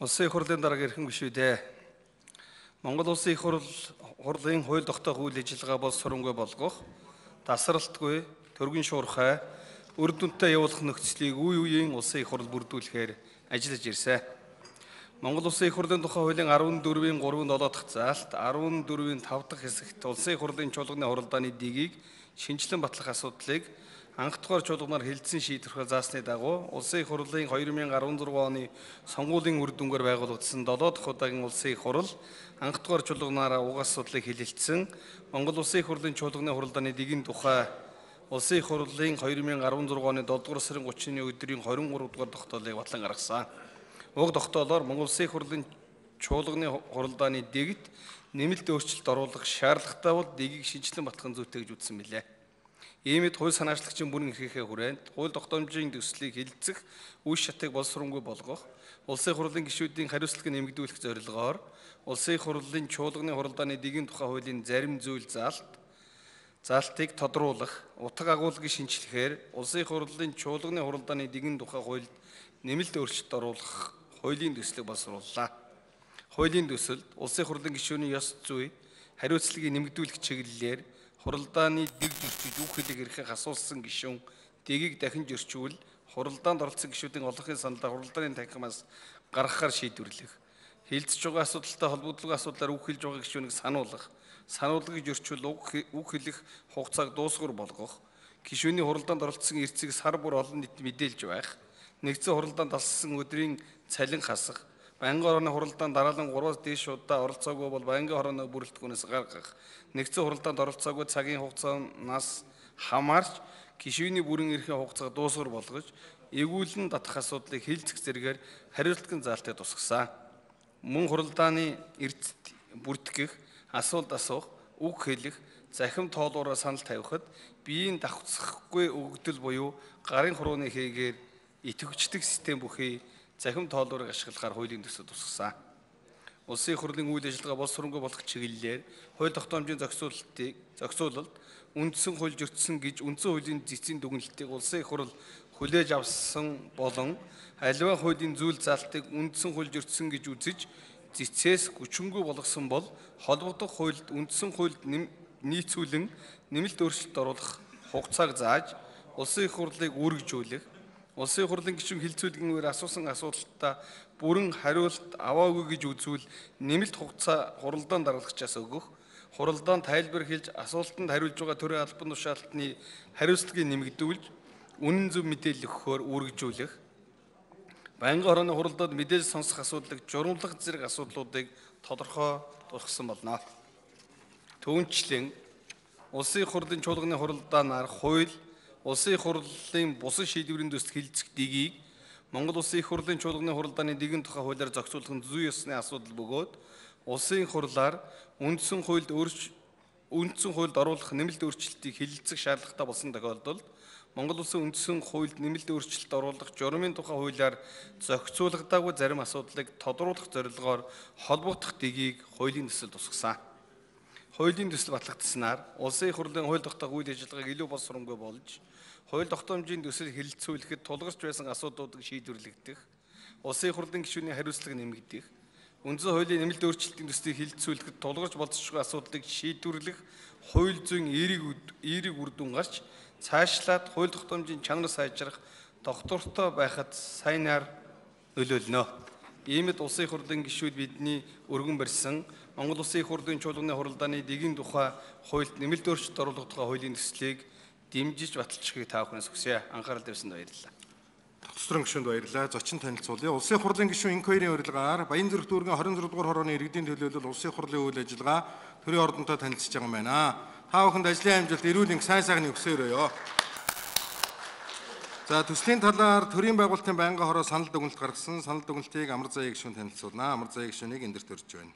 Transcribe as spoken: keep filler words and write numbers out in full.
Улсын их хурлын дарга эрхэм гишүүдээ Монгол Улсын их хурл хурлын хууль тогтоох үйл ажиллагаа бол сурамгүй болгох, тасралтгүй, төргөн шуурхай, үр дүнтэй явуулах нөхцөлийг үе үеийн Улсын их хурл бүрдүүлэхээр ажиллаж ирсэн. Монгол Улсын их хурлын тухай хуулийн арван дөрвийн гурав дахь заалт, арван дөрвийн тав дахь хэсэгт Улсын их хурлын чуулганы хуралдааны дэгийг шинжилэн батлах асуудлыг анх дугаар чуулганаар хэлэлцэн шийдвэрлэх заасны дагуу Улсын их хурлын две тысячи десять оны сонгуулийн үр дүнгээр байгуулагдсан долоо дахь удаагийн Улсын их хурл анх дугаар чуулганаараа уг асуудлыг хэлэлцсэн Монгол Улсын их хурлын чуулганы хуралдааны дэгийн тухай Улсын их хурлын две тысячи десять оны долоо дугаар сарын гуравны өдрийн двадцать три дугаар тогтоолыг батлан гаргасан. Уг тогтоолоор Монгол Улсын их хурлын чуулганы хуралдааны дэгт нэмэлт өөрчлөлт оруулах шаардлагатай бол дэгийг шинжилэн батлах зүйтэй гэж үзсэн билээ. Иймд хууль санаачлагчийн бүрэн эрхийнхээ хүрээнд хууль тогтоомжийн төслийг хэлэлцэх үе шатыг боловсруулгүй болгох, Улсын их хурлын гишүүдийн хариуцлагыг нэмэгдүүлэх зорилгоор Улсын их хурлын чуулганы хуралдааны дэгийн тухай хуулийн зарим зүйл заалт заалтыг тодруулах, утга агуулгыг шинжилэхээр Улсын их хурлын чуулганы хуралдааны дэгийн тухай хуульд нэмэлт өөрчлөлт оруулах хуулийн төслийг боловсрууллаа. Хуулийн төсөлд Улсын их хурлын гишүүний ёс зүй, хариуцлагыг нэмэгдүүлэх чиглэлээр хуралдааны дэг зөрчиж үг хэлийг эрхийг асуулсан гишүүн дэгийг дахин зөрчүүл хуралдаанд оролцсон гишүүдийн олонхын саналаа хуралдааны танхимаас гаргахаар шийдвэрлэх, хилцэж байгаа асуудалтай холбогдлого асуудлаар үг хэлж байгаа гишүүнийг сануулгах, сануулгыг зөрчүүл үг хэлэх хугацааг дуусгар болгох, гишүүний хуралдаанд оролцсон эрцгийг сар бүр олон нийт мэдээлж байх, нэгдсэн хуралдаанд алсан өдрийн цалин хасах, байнгын хорооны хуралдаанд дараалан гураваас дээш удаа оролцоогүй бол байнгын хорооны бүрэлдэхүүнээс гаргах, нэгдсэн хуралдаанд оролцоогүй цагийн хугацаанаас хамаарч гишүүний бүрэн эрхийн хугацааг дуусгар болгож, эгүүлэн татах асуудлыг хэлцэх зэргээр хариуцлагын заалтыг тусгасан. Мөн хуралдааны эрдэд бүртгэх, асуулт асуух, үг хэлэх, захим тоолуураа санал тавихад биеийн давхцахгүй өгөгдөл буюу гарын хурууны хийгээр идэвхждэг систем бүхий захим тоолуурыг ашиглахаар хуулийн төсөл тусгасан. Улсын их хурлын үйл ажиллагаа боловсруулгүй болох чиглэлээр хууль тогтоомжийн зохицуулалтыг зохицуулалт үндсэн хууль зөрчсөн гэж үндсэн хуулийн зэцийн дүгнэлтийг Улсын их хурл хүлээж авсан болон аливаа хуулийн зүйл заалтыг үндсэн хууль зөрчсөн гэж үзэж зэцээс хүчингүй болгосон бол холбогдох хуульд үндсэн хуульд нийцүүлэн нэмэлт өөрчлөлт оруулах хугацааг зааж Улсын их хурлыг үүргэжүүлэх, Улсын их хурлын гишүүн хилцүүлгийн үеэр асуусан асуултаа бүрэн хариулт аваагүй гэж үзвэл нэмэлт хугацаа хуралдаан даргалагчаас өгөх, хуралдаан тайлбар хэлж асуултанд хариулж байгаа төрийн албан тушаалтны хариуцлагыг нэмэгдүүлж, үнэн зөв мэдээлэл өгөхөөр үүргэжүүлэх, байнгын хорооны хуралдаанд мэдээлэл сонсох асуудлыг журамлах зэрэг асуудлуудыг тодорхой болгосон болно. Түүнчлэн Улсын их хурлын чуулганы хуралдаанаар хууль Улсын их хурлын бусад шийдвэрийн төсөл хэлэлцэх дэгийг Монгол Улсын их хурлын чуулганы хуралдааны дэгийн тухай хуулиар зохицуулах нь зүй ёсны асуудал бөгөөд Улсын их хурлаар үндсэн хуульд үндсэн хуульд оруулах нэмэлт өөрчлөлтийг хэлэлцэх шаардлагатай болсон тохиолдолд Монгол Улсын үндсэн хуульд нэмэлт өөрчлөлт оруулах журмын тухай хуулиар зохицуулагдаагүй зарим асуудлыг тодруулах зорилгоор холбогдох дэгийг хуулийн төсөл тусгасан. Хуулийн төсөл батлагдсанаар Улсын их хурлын хууль тогтоох үйл ажиллагааг илүү боловсруулгүй болж, хууль тогтоомжийн төсөл хэлэлцүүлэхэд тулгарч байсан асуудлуудыг шийдвэрлэгдэх, Улсын их хурлын гишүүний хариуцлага нэмэгдэх, үндсэн хуулийн нэмэлт өөрчлөлтийн төслийг хэлэлцүүлэхэд тулгарч болцсохгүй асуудлыг шийдвэрлэх хууль зүйн эерэг эерэг үр дүн гарч, цаашлаад хууль тогтоомжийн чанар сайжрах доктортой байхад сайнаар нөлөөлнө. Иймд Улсын их хурлын гишүүд бидний өргөн барьсан Монгол Улсын их хурлын чуулганы хуралдааны дэгийн тухай хуульд нэмэлт өөрчлөлт оруулах тухай хуулийн төслийг дэмжиж баталчихыг та бүхнээс хүсье. Анхаарал тавьсанд баярлалаа. Тогтцорын гишүүнд баярлалаа. Зочин танилцуулъя. Улсын их хурлын гишүүн инквайрийн урилгаар Баянзүрх дүүргийн двадцать two дугаар хорооны иргэдийн төлөөлөл Улсын их хурлын үйл ажиллагаа төрийн ордонтой танилцж байгаа юм байна. Та бүхэнд ажлын амжилт, эрүүл энх, сайн сайхны өсөөрөөё. За төслийн талаар төрийн байгуулалтын байнгын хороо санал дүгнэлт гаргасан. Санал дүгнэлтийг Амар Заяа гишүүн танилцуулна. Амар Заяа гишүүнийг эндэрт өрж байна.